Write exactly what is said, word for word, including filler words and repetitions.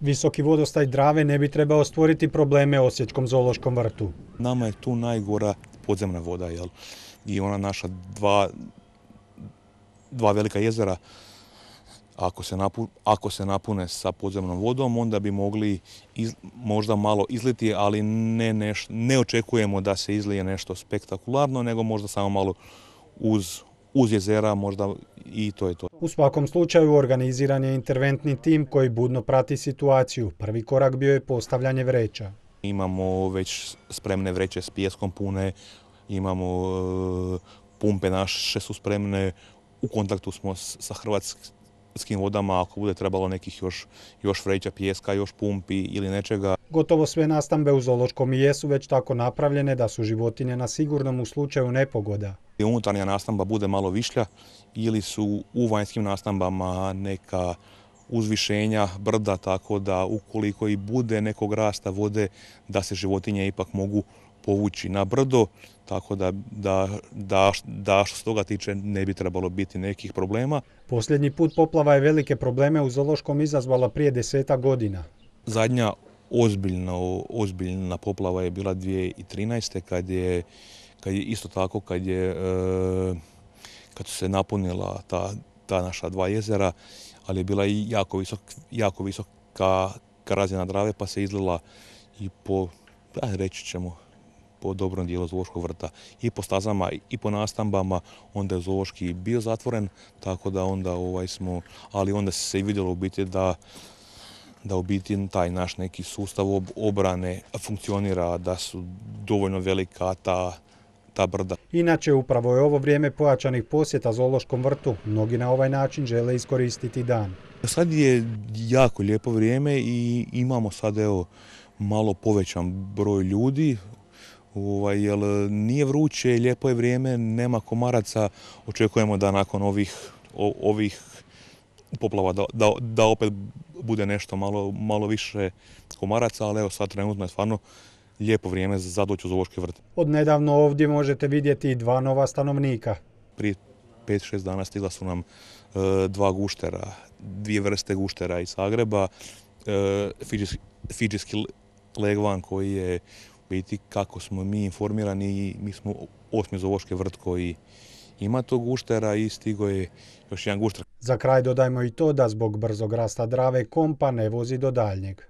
Visoki vodostaj Drave ne bi trebao stvoriti probleme Osječkom zoološkom vrtu. Nama je tu najgora podzemna voda, jel? I ona naša dva, dva velika jezera, ako se, napu, ako se napune sa podzemnom vodom, onda bi mogli iz, možda malo izliti, ali ne, neš, ne očekujemo da se izlije nešto spektakularno, nego možda samo malo uz, uz jezera, možda i to je to. U svakom slučaju organiziran je interventni tim koji budno prati situaciju. Prvi korak bio je postavljanje vreća. Imamo već spremne vreće s pijeskom pune, imamo e, pumpe naše su spremne, u kontaktu smo sa Hrvatskim vodama, ako bude trebalo nekih još, još vreća pijeska, još pumpi ili nečega. Gotovo sve nastambe u zoološkom i jesu već tako napravljene da su životinje na sigurnom u slučaju nepogoda. Unutarnja nastamba bude malo višlja ili su u vanjskim nastambama neka uzvišenja, brda, tako da ukoliko i bude nekog rasta vode, da se životinje ipak mogu povući na brdo, tako da, da, da, da što se toga tiče ne bi trebalo biti nekih problema. Posljednji put poplava je velike probleme u zoološkom izazvala prije desetak godina. Zadnja ozbiljna, ozbiljna poplava je bila dvije tisuće trinaeste. kad je, kad je isto tako kad je kad su se napunila ta, ta naša dva jezera, ali je bila i jako, visok, jako visoka razina Drave, pa se izlila i po, reći ćemo, po dobrom dijelu zoološkog vrta. I po stazama i po nastambama, onda je zoološki bio zatvoren, tako da onda ovaj smo, ali onda se i vidjelo u biti da da u biti taj naš neki sustav obrane funkcionira, da su dovoljno velika ta, ta brda. Inače, upravo je ovo vrijeme pojačanih posjeta zoološkom vrtu. Mnogi na ovaj način žele iskoristiti dan. Sad je jako lijepo vrijeme i imamo sad evo malo povećan broj ljudi. Ovaj, jer nije vruće, lijepo je vrijeme, nema komaraca. Očekujemo da nakon ovih, ovih poplava da, da, da opet bude nešto malo, malo više komaraca, ali evo sad trenutno je stvarno lijepo vrijeme za doći u zoološki vrt. Od nedavno ovdje možete vidjeti i dva nova stanovnika. Prije pet šest dana stigla su nam e, dva guštera, dvije vrste guštera iz Zagreba, e, fidžijski, fidžijski legvan koji je biti kako smo mi informirani, mi smo osmi zoološki vrt koji ima tog guštera i stigo je još jedan gušter. Za kraj dodajmo i to da zbog brzog rasta Drave kompa ne vozi do daljnjeg.